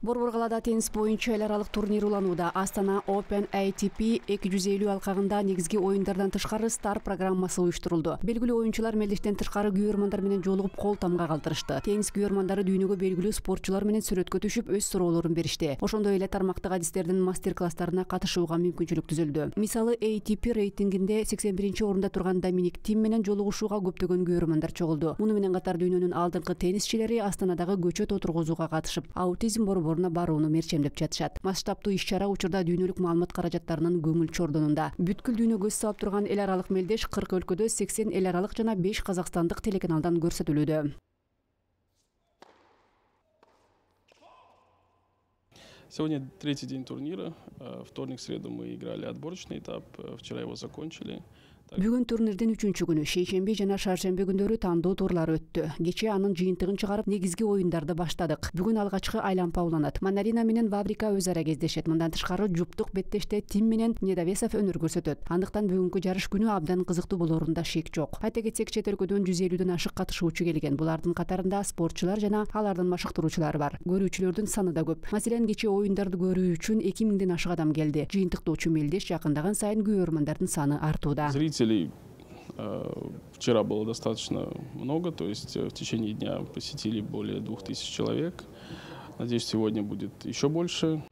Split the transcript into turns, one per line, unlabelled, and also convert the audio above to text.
Борбор калаада теннис боюнча эл аралык турнир уланууда. Астана Open ATP 250 алкагында негизги оюндардан тышкары стар программасы уюштурулду. Белгилүү оюнчулар мелдештен тышкары күйөрмандар менен жолугуп кол тамга калтырышты. Теннис күйөрмандары дүйнөгө белгилүү спортчулар менен сүрөткө түшүп өз суроолорун беришти. Ошондой эле тармактык адистердин мастер-класстарына катышууга мүмкүнчүлүк түзүлдү. Мисалы ATP рейтингинде 81-орунда турган Доминик Тим менен жолугушууга көптөгөн күйөрмандар чогулду. Муну менен катар дүйнөнүн алдыңкы теннисчилери Астанадагы көчөт отургузууга катышып, аутизм борборуна барууну мерчемдеп жатышат. Масштабтуу иш-чара учурда дүйнөлүк маалымат каражаттарынын көңүл чордонунда. Бүткүл дүйнө көз салып турган эл аралык мелдеш 40 өлкөдө 80 эл аралык жана 5 казакстандык телеканалдан көрсөтүлүүдө.
Сегодня третий день турнира. Вторник, среду мы играли отборочный этап. Вчера его закончили.
Бүгүн турнирдин 3-күнү шейшемби жана шаршемби күндөрү тандоо турлар өттү. Кечээ анын жыйынтыгын чыгарып, негизги оюндарды баштадык. Бүгүн алгачкы айлампа уланат. Манарина менен Ваврика өз ара кездешет. Мындан тышкары жуптук беттеште Тим менен Недовесов өнөр көрсөтөт. Андыктан бүгүнкү жарыш күнү абдан кызыктуу болоорунда шек жок. Айта кетсек, чет өлкөдөн 150дөн ашык катышуучу келген. Булардын катарында спортчулар жана алардын машыктыруучулары бар. Көрүүчүлөрдүн саны да көп. Маселен, кечээ оюндарды көрүү үчүн 2000ден ашык адам келди. Жыйынтыктоочу мелдеш жакындаган сайын күйөрмандардын саны артууда.
Вчера было достаточно много, то есть в течение дня посетили более 2000 человек. Надеюсь, сегодня будет еще больше.